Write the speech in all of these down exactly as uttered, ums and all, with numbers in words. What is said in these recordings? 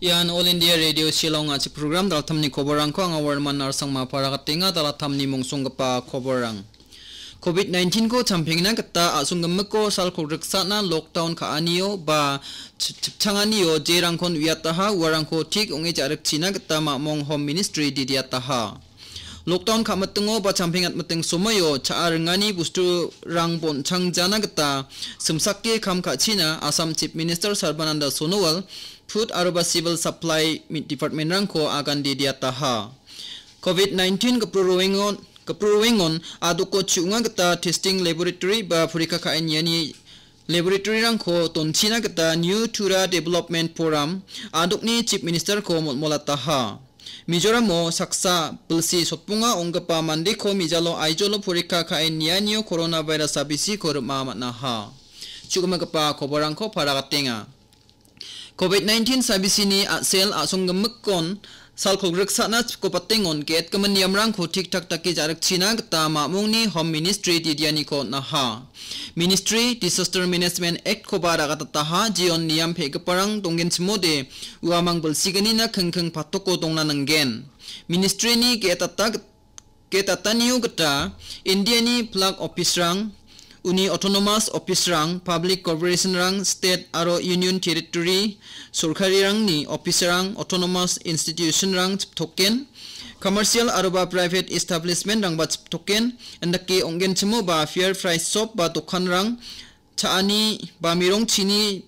Ian All India Radio Shillong a·chik program, dalatamni koborrangko anga Warman Arsangma paragatenga. Dalatamni mongsonggipa koborrang. Covid nineteen-ko champengna gita a·songgimiko sal kolgriksana lockdown ka·anio ba chip-, chipchanganio jerangkon uiataha, uarangko tik ong·e ja·rikchina gita mamong Home Ministry didiataha. Lockdown ka·mitingo ba champeng atmiting somoio cha·a ringani bosturang bonchang jana gita simsake kam ka·china Assam Chief Minister Sarbananda Sonowal, Food aroba Civil Supply mi-, Department-rangko agan didiataha. Covid nineteen gipru roengon, gipru roengon adoko chu·onga gita testing laboratory ba porikka ka·e niani laboratory-rangko donchina gita New Tura Development Forum adokni Chief Minister-ko molmolataha. Mizoramo saksa bilsi sotbonga ong·gipa mandeko mijalo aijolo porikka ka·e nianio coronavirus sabisiko rim·a man·aha. Chu·gimagipa koborrangko paragatenga. Covid nineteen sabisini a·sel a·songgimikkon sal kolgriksana chipko patengon ge·etgimin niamrangko tik-tak dake ja·rikchina gita mamongni Home Ministry didianiko on·aha. Ministry Disaster Management Act-koba ra·gatataha, jeon niam pe·giparang donggenchimode uamang bilsignina kingking patoko dongna ningen. Ministry-ni ge·etata git-, ge·etatanio gita India-ni flag office-rang, uni autonomous office-rang, public corporation-rang, state aro union territory sorkarirangni office-rang, autonomous institution-rang chiptoken, commercial aroba private establishment-rangba chiptoken, indake ong·genchimoba fair price shop ba dokanrang, cha·ani ba mirongchini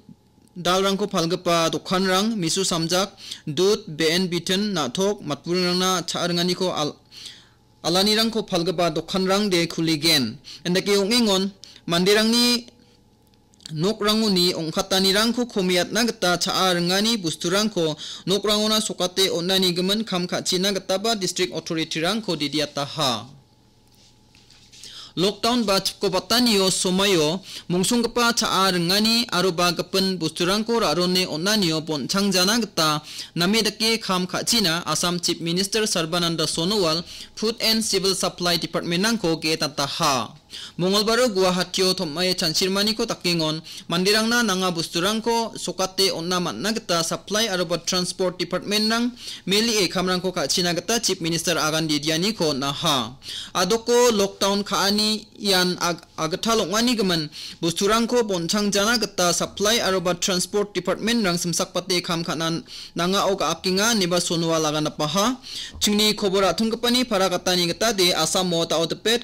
dalrangko palgipa dokanrang, misu samjak, dud, be·en biten, na·tok, matburingrangna cha·ringaniko al-, alanirangko palgipa dokanrangde kuligen. Indake ong·engon manderangni nokrangoni ong·katanirangko komiatna gita cha·a ringani bosturangko nokrangona sokate on·ani gimin kam ka·china gitaba district authority-rangko didiataha. Lockdown ba chipko batanio somoio mongsonggipa cha·a ringani aroba gipin bosturangko ra·rone on·anio bonchang jana gita name dake kam ka·china Assam Chief Minister Sarbananda Sonowal, Food and Civil Supply Department-rangko ge·etataha. Mongolbaro Guwahatio tom·ae chansirmaniko dakengon manderangna nanga bosturangko sokate on·na man·na gita supply aroba transport department-rang melie kamrangko ka·china gita Chief Minister agan didianiko on·aha. Adoko lockdown ka·ani ian ag-, agital ong·ani gimin bosturangko bonchang jana gita supply aroba transport department-rang simsakbate kam ka·na nangao ga·akenga ineba Sonowal agan dapaha. Chingni kobor a·tonggipani para gatani gitade Assamo dao dipet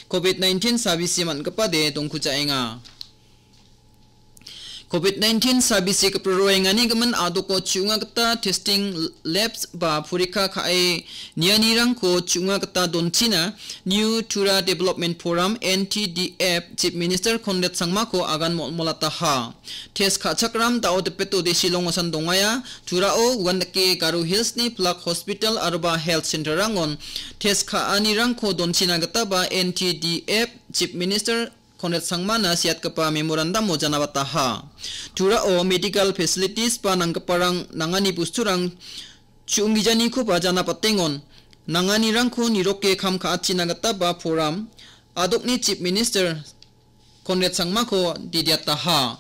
Covid nineteen sabisi man·gipade dongkujaenga. Covid nineteen sabisi gipro roengani gimin adoko chu·onga gita testing labs ba porikka ka·e nianirangko chu·onga gita donchina New Tura Development Forum, N T D F, Chief Minister Conrad Sangmako agan molmolataha. Test ka·chakram dao dipeto de Shillong-osan dongaia. Turao uandake Garo Hills-ni Plak Hospital aroba Health Center-rangon test ka·anirangko donchina gitaba N T D F Chief Minister Conrad Sangmana siatgipa memorandum-o janabataha. Turao medical facilities ba nanggiparang nangani bosturang chu·onggijanikoba janabatengon. Nanganirangko niroke kam ka·achina gitaba Forum adokni Chief Minister Conrad Sangmako didiataha.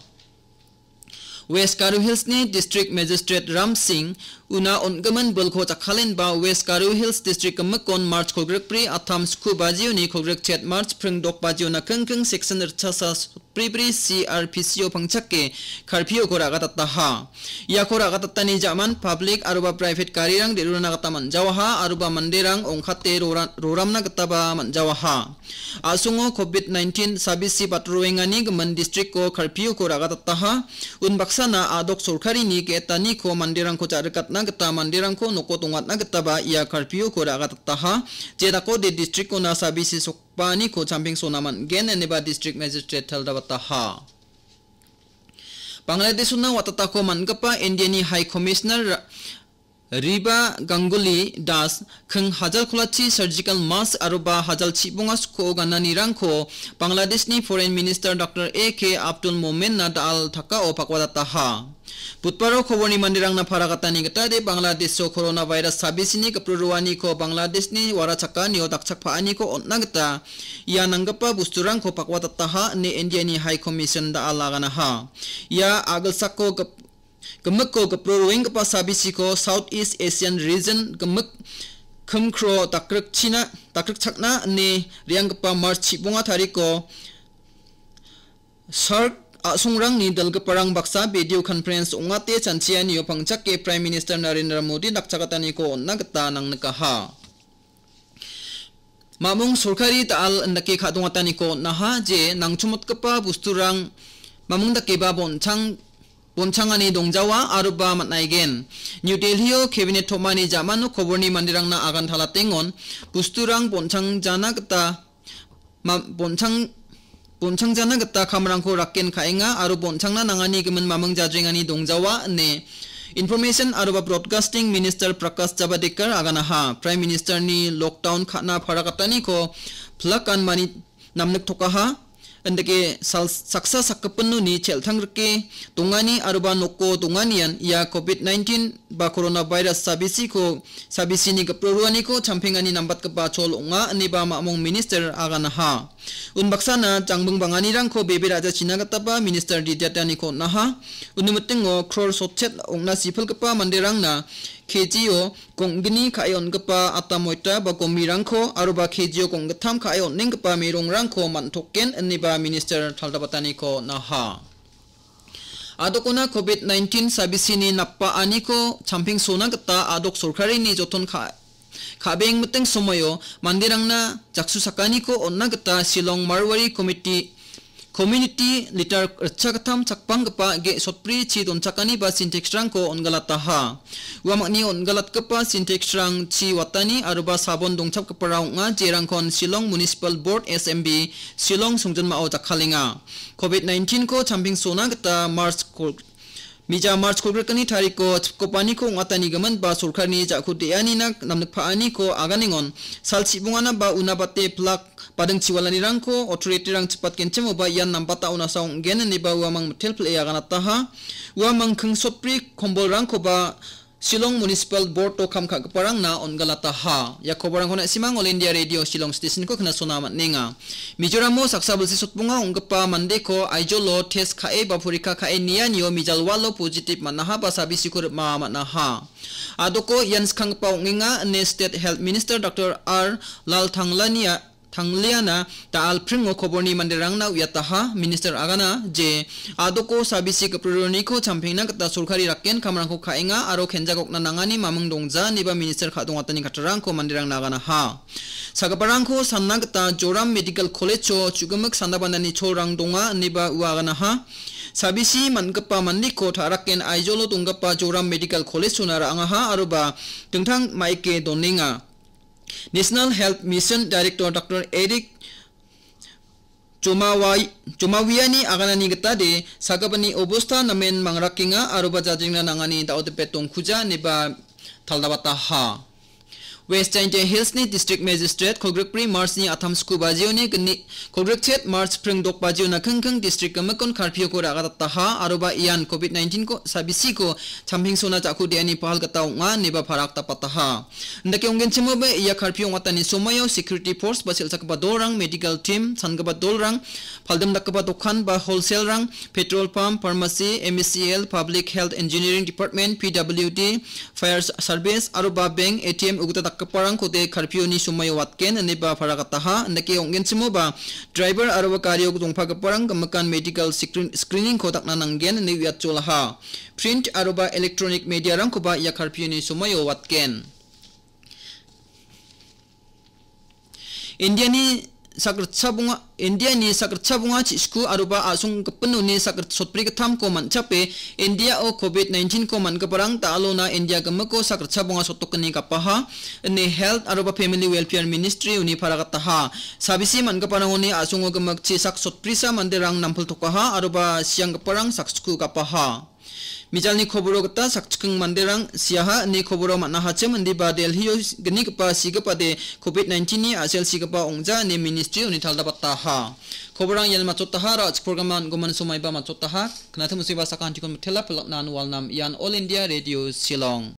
West Garo Hills-ni District Magistrate Ram Singh una on·gimin bilko jakkalenba West Garo Hills District gimikon March kolgrikbri attam sku bajioni kolgrikchet March pringdok bajiona kingking section ritchasa sotbribri C R P C-o pangchake curfew-ko ra·gatataha. Iako ra·gatatani ja·man public aroba private garirang de·rurana gita man·jawaha aroba manderang ong·kate rora-, roramna gitaba man·jawaha. A·songo Covid nineteen sabisi batroengani gimin districtko curfewko ra·gatataha. Unbaksana a·dok sorkarini ge·etaniko manderangko ja·rikatna gita manderangko noko dongatna gitaba ia curfewko ra·gatataha. Jedakode district-ona sabisi sokbaaniko champengsona man·gen ineba district magistrate taldabataha. Bangladeshona watatako man·gipa Indiani High Commissioner Ra-, Riba Ganguly Das keng hajal kolachi surgical mask aroba hajal chibonga sko gananirangko Bangladeshni Foreign Minister Doctor A K Abdul Momenna da·al takao pakwatataha. Budbaro koborni manderangna paragatani gitade Bangladesho coronavirus sabisini gipro roaniko Bangladeshni warachakanio dakchakpaaniko on·na gita ia nanggipa bosturangko pakwatataha ine Indiani High Commission da·al aganaha. Ia a·gilsako gip-, Gimikko gipro roenggipa sabisiko South East Asian Region gimik kimkro dakrikchina, dakrikchakna ine re·anggipa March chibonga tariko SAARC a·songrangni dilgiparang baksa video conference ong·ate chanchianio pangchake Prime Minister Narendra Modi dakchakataniko on·na gita nangnikaha. Mamung sorkari da·al indake ka·dongataniko on·aha je nangchomotgipa bosturang mamung dakeba bonchang-, bonchangani dongjawa aroba man·aigen. New Delhio cabinet tom·ani ja·mano koborni manderangna agan talatengon bosturang bonchangjana gita ma-, bonchang-, bonchangjana gita kamrangko rakken ka·enga aro bonchangna nangani gimin mamung jajrengani dongjawa ine Information aroba Broadcasting Minister Prakash Javadekar aganaha. Prime Ministerni lockdown ka·na parakataniko plakan mani namniktokaha. Indake sal-, saksa sakgipinoni cheltangrike dongani aroba noko donganian ia covid nineteen ba coronavirus sabisiko, sabisini gipro roaniko champengani nambatgipa chol ong·a ineba mamung minister aganaha. Unbaksana jangbing banganirangko bebe ra·jachina gitaba minister didiataniko on·aha. Uni mitingo crore sotchet ong·na sipilgipa manderangna K G-o gong·gni ka·e on·gipa ata moita ba gomirangko aroba K G-o gong·gittam ka·e on·enggipa merongrangko man·token ineba minister taldabataniko on·aha. Adokona covid nineteen sabisini napbaaniko champengsona gita adok sorkarini joton ka-, ka·beng miting somoio manderangna jaksusakaniko on·na gita Shillong Marwari Committee Community litar ritchagittam chakpanggipa ge·sotbri chi donchakani ba Sintex-rangko on·galataha. Uamangni on·galatgipa Sintex-rang chi watani aroba sabon dongchapgipara ong·a, jerangkon Shillong Municipal Board, S M B, Shillong songjinmao jakkalenga. Covid nineteen-ko champengsona gita March kol-, Mija March kolgrikni tariko chipkopaniko ong·atanigimin ba sorkarni ja·ko de·anina namnikpaaniko aganengon, sal chibongana ba una bate plak bading chiwalanirangko authority-rang chipatgenchimoba ian nambata onasa ong·gen ineba uamang mitel pile aganataha. Uamang kingsotbri kombolrangkoba Shillong Municipal Board-o kam ka·giparangna on·galataha. Ia koborangko na·simang All India Radio Shillong Station-ko knasona man·enga. Mizoramo saksa bilsi sotbonga ong·gipa mandeko Aizawl-o test ka·e ba porikka ka·e nianio Mijalwalo positive man·aha ba sabisiko rim·a man·aha. Adoko ian skanggipa ong·enga ine State Health Minister Doctor R Lalthangliana, Thangliana da·al pringo koborni manderangna uiataha. Minister agana je adoko sabisi gipro roaniko champengna gita sorkari rakken kamrangko ka·enga aro kenjagokna nangani maming dongja ineba minister ka·dongatani kattarangko manderangna aganaha. Sagiparangko sanna gita Joram Medical College-o chu·gimik sanda bandani cholrang donga ineba ua aganaha. Sabisi man·gipa mandiko ta·raken Aizawl-o donggipa Joram Medical College-ona ra·angaha aroba dingtang maike donenga. National Health Mission Director Doctor Eric Jomawai-, Jomawiani aganani gitade sagipani obosta namen mangrakenga aroba jajingna nangani da·o dipet dongkuja ineba taldabataha. West Jaintia Hills-ni District Magistrate kolgrikbri March-ni atam sku bajioni gni-, kolgrikchet March pringdok bajiona kingking district gimikon curfew-ko ra·gadataha aroba ian covid nineteen-ko sabisiko champengsona ja·ko de·ani pahal gita ong·a ineba parak dapataha. Indake ong·genchimoba ia curfew ong·atani somoio security force ba sel·chakgipa dolrang, medical team, sangipa dolrang, paldim dakgipa dokan ba wholesale-rang, petrol pump, pharmacy, M E C L, Public Health Engineering Department, P W D, Fire Service, aroba bank, A T M ugital dakgiparangkode curfew-ni somoio watgen ineba paragataha. Indake ong·genchimoba driver aroba gario dongpagiparang gimikan medical screen-, screening-ko dakna nanggen ine uiatjolaha. Print aroba electronic media-rangkoba ia curfew-ni somoio watgen. Indiani sakritcha bonga, Indiani sakritcha bonga chisku aroba a·song gipinoni sakrit sotbri gittamko man·chape Indiao covid nineteen-ko man·giparang da·alona India gimiko sakritcha bonga sotokgni gapaha, ine Health aroba Family Welfare Ministry-oni paragataha. Sabisi man·giparangoni a·songo gimik chisak sotbrisa manderang nampiltokaha aroba sianggiparang saksku gapaha. Mijalni koboro gita sakchikking manderang siaha ine koboro man·ahachim indiba Delhio gnigipa sigipade covid nineteen-ni a·sel sigipa ong·ja ine ministry-oni taldapataha. Koborang ian matchotaha, ra·chik program-an goman somaiba matchotaha. Knatim osiba sakantikon mitela pelaknan walnam ian All India Radio Shillong.